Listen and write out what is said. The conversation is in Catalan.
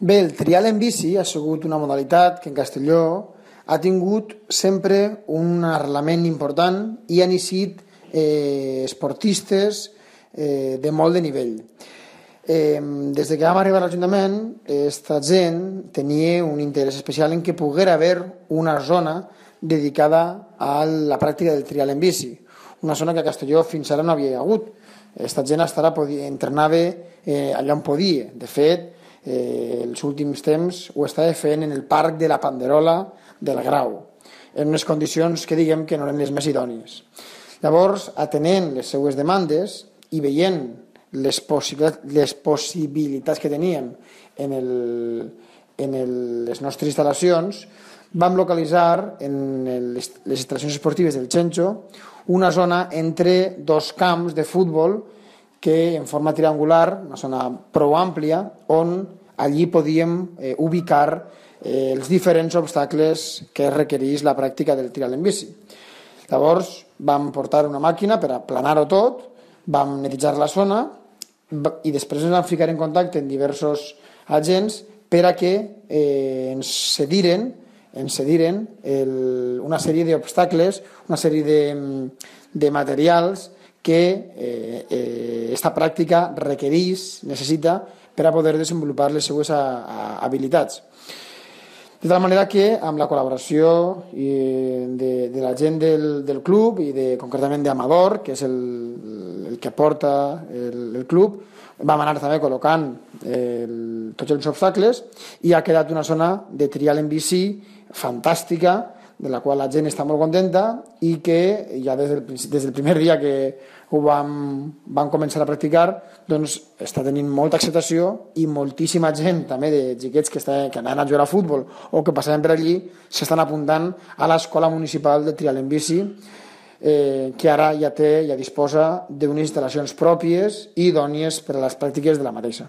Bé, el trial en bici ha sigut una modalitat que en Castelló ha tingut sempre un arrelament important i han eixit esportistes de molt de nivell. Des de que vam arribar a l'Ajuntament, aquesta gent tenia un interès especial en que poguera haver una zona dedicada a la pràctica del trial en bici, una zona que a Castelló fins ara no havia hagut. Aquesta gent entrenava allà on podia. De fet, els últims temps ho estava fent en el parc de la Panderola del Grau, en unes condicions que diguem que no eren les més idònies. Llavors, atenent les seues demandes i veient les possibilitats que teníem en les nostres instal·lacions, vam localitzar en les instal·lacions esportives del Chencho una zona entre dos camps de futbol que en forma triangular, una zona prou àmplia, on allí podíem ubicar els diferents obstacles que requereix la pràctica del trial en bici. Llavors vam portar una màquina per aplanar-ho tot, vam netejar la zona i després ens vam ficar en contacte amb diversos agents per a que ens cediren una sèrie d'obstacles, una sèrie de materials que aquesta pràctica requereix, necessita per a poder desenvolupar les seues habilitats. De tal manera que amb la col·laboració de la gent del club i concretament d'Amador, que és el que porta el club, vam anar també col·locant tots els obstacles i ha quedat una zona de trial en bici fantàstica, de la qual la gent està molt contenta i que ja des del primer dia que ho vam començar a practicar, doncs està tenint molta acceptació i moltíssima gent també de xiquets que anaven a jugar a futbol o que passaven per allí s'estan apuntant a l'escola municipal de trial en bici, que ara ja disposa d'unes instal·lacions pròpies i idònies per a les pràctiques de la mateixa.